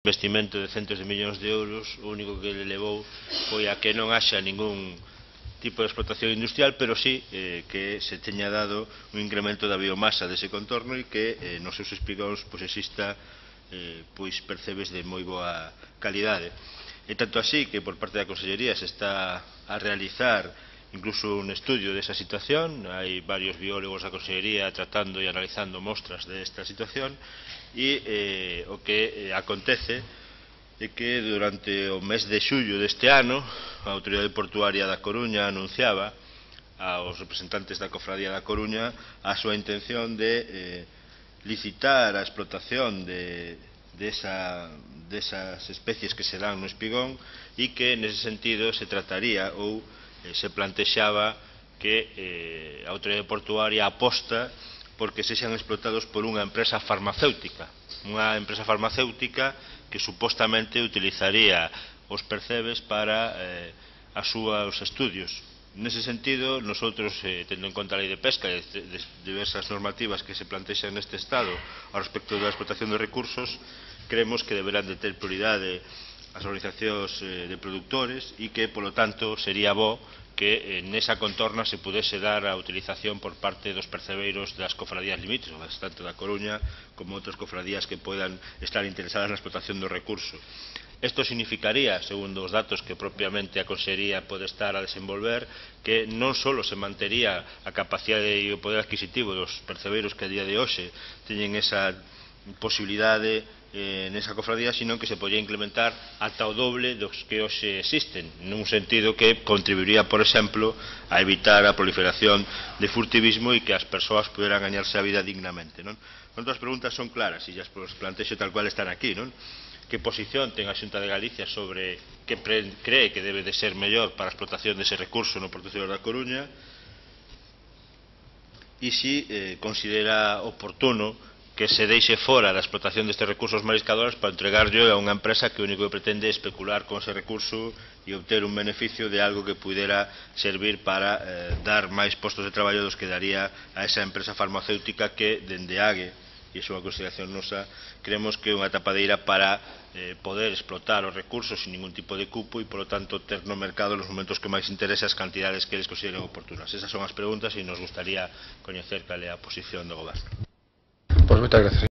investimento de centos de millóns de euros, o único que le levou foi a que non haxa ningún tipo de explotación industrial, pero sí que se teña dado un incremento da biomasa dese contorno e que nos seus espigóns exista percebes de moi boa calidade. E tanto así que por parte da Consellería se está a realizar incluso un estudio desa situación. Hai varios biólogos da Consellería tratando e analizando mostras desta situación e o que acontece é que durante o mes de xullo deste ano a Autoridade Portuaria da Coruña anunciaba aos representantes da Cofradía da Coruña a súa intención de licitar a explotación desas especies que se dan no espigón e que nese sentido se trataría ou se plantexaba que a Autoridade Portuaria aposta porque sexan explotados por unha empresa farmacéutica que supostamente utilizaría os percebes para os seus estudios. Nese sentido, nosotros, tendo en conta a Lei de Pesca e diversas normativas que se plantexan neste Estado ao respecto da explotación de recursos, creemos que deberán de ter prioridade as organizacións de produtores e que, polo tanto, sería bo que nesa contorna se pudese dar a utilización por parte dos percebeiros das cofradías limítrofas, tanto da Coruña como outras cofradías que poidan estar interesadas na explotación do recurso. Isto significaría, segundo os datos que propiamente a Consellería pode estar a desenvolver, que non só se mantería a capacidade e o poder adquisitivo dos percebeiros que a día de hoxe teñen esa posibilidade nesa cofradía, sino que se podía implementar ata o doble dos que hoxe existen, nun sentido que contribuiría, por exemplo, a evitar a proliferación de furtivismo e que as persoas puderan gañarse a vida dignamente. As preguntas son claras e as plantexo tal cual están aquí. Que posición ten a Xunta de Galicia sobre que cree que debe de ser mellor para a explotación dese recurso no Porto Exterior da Coruña e se considera oportuno que se deixe fora da explotación destes recursos mariscadores para entregarlo a unha empresa que o único que pretende é especular con ese recurso e obter un beneficio de algo que pudera servir para dar máis postos de traballo dos que daría a esa empresa farmacéutica que, dende AGE, e iso é unha consideración nosa, creemos que é unha tapadeira para poder explotar os recursos sin ningún tipo de cupo e, polo tanto, ter no mercado nos momentos que máis interese as cantidades que eles consideren oportunas. Esas son as preguntas e nos gustaría coñecer cal é a posición do Goberno. Pois moitas gracias.